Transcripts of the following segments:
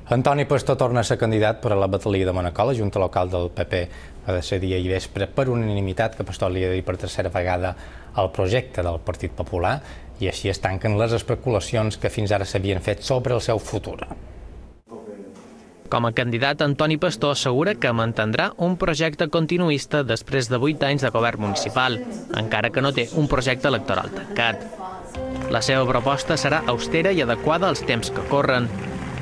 Antoni Pastor torna a ser candidat per a la batllia de Manacor. La Junta Local del PP va decidir ahir vespre per unanimitat que Pastor lideri per tercera vegada el projecte del Partit Popular i així es tanquen les especulacions que fins ara s'havien fet sobre el seu futur. Com a candidat, Antoni Pastor assegura que mantindrà un projecte continuista després de 8 anys de govern municipal, encara que no té un projecte electoral tancat. La seva proposta serà austera i adequada als temps que corren.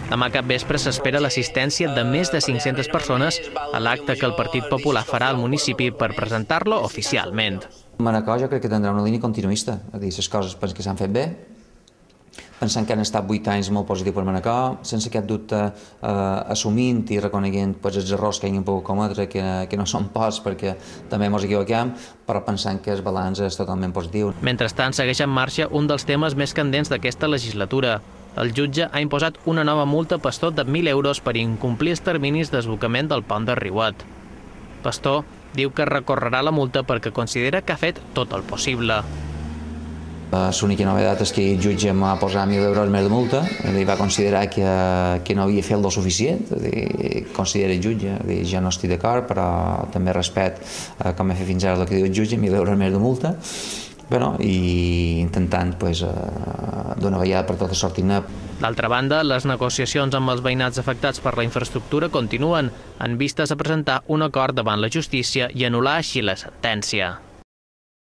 Demà cap vespre s'espera l'assistència de més de 500 persones a l'acte que el Partit Popular farà al municipi per presentar-lo oficialment. Manacor jo crec que tindrà una línia continuista, és a dir, les coses penso que s'han fet bé, pensant que han estat 8 anys molt positius per Manacor, sense cap dubte assumint i reconeguent els errors que hagin pogut cometre, que no són pocs perquè també ens equivoquem, però pensant que el balanç és totalment positiu. Mentrestant, segueix en marxa un dels temes més candents d'aquesta legislatura. El jutge ha imposat una nova multa a Pastor de 1.000 euros per incomplir els terminis d'esbocament del pont de Riuet. Pastor diu que recorrerà la multa perquè considera que ha fet tot el possible. L'única novetat és que el jutge m'ha posat 1.000 euros més de multa, va considerar que no havia fet el suficient, considera el jutge, jo no estic d'acord, però també respecte com he fet fins ara el que diu el jutge, 1.000 euros més de multa, i intentant d'una vegada per totes sortir-ne. D'altra banda, les negociacions amb els veïnats afectats per la infraestructura continuen, en vistes a presentar un acord davant la justícia i anul·lar així la sentència.